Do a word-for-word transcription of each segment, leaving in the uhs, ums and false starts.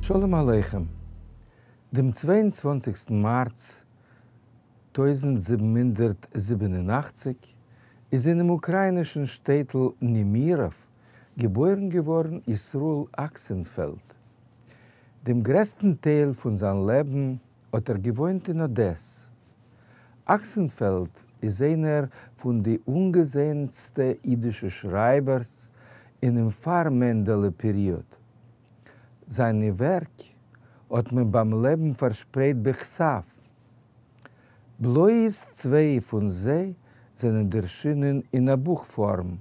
שלום עליכם. דעם צוויי און צוואַנציקסטן מארץ טויזנט זיבן הונדערט זיבן און אַכציק איז אינעם אוקראינישן שטעטל נעמיראוו געבוירן געווארן ישראל אקסענפעלד. דעם גרעסטן טייל פון זיין לעבן האט ער געוואוינט אין אדעס. אקסענפעלד איז איינער פון די אנגעזעענסטע אידישע שרייבערס אינעם פאר-מענדעלע פעריאד. זיינע ווערק האט מען ביים לעבן פארשפרייט בכתב. בלויז צוויי פון זיי זענען דערשינען אין א בוך פארם,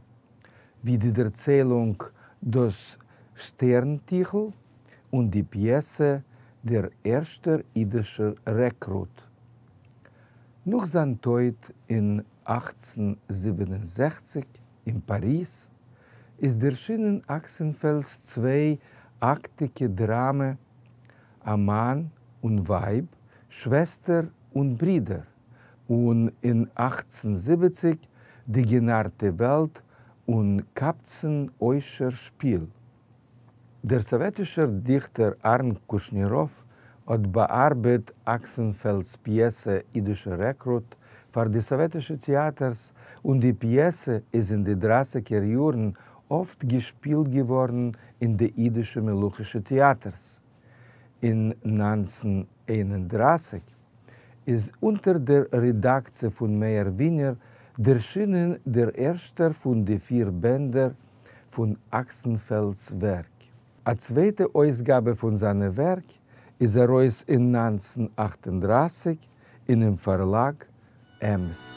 ווי די דערציילונג דאס שטערנטיכל און די פיעסע דער ערשטער אידישער רעקרוט. נאך זיין טויט אין אַכצן זיבן און זעכציק אין פאריז איז דערשינען אקסענפעלד'ס צוויי אקטיגע דראמע א מאן און ווייב, שוועסטער און ברידער, און אין אַכצן זיבעציק די גענארטע וועלט און קבצן עושר שפיל. דער סאוועטישער דיכטער אהרן קושניראוו האט באארבעט אקסענפעלד'ס פיעסע אידישער רעקרוט פאר די סאוועטישע טעאטערס, און די פיעסע איז אין די דרייסיגער יארן אפט געשפילט געווארן אין די אידישע מלוכישע טעאטערס. אין נײַנצן איין און דרײַסיק איז אונטער דער רעדאקציע פון מאיר ווינער דערשינען דער ערשטער פון די פיר בענדער פון אקסענפעלד'ס ווערק. א צווייטע אויסגאבע פון זיינע ווערק איז ארויס אין נײַנצן אַכט און דרײַסיק אינעם פארלאג עמס.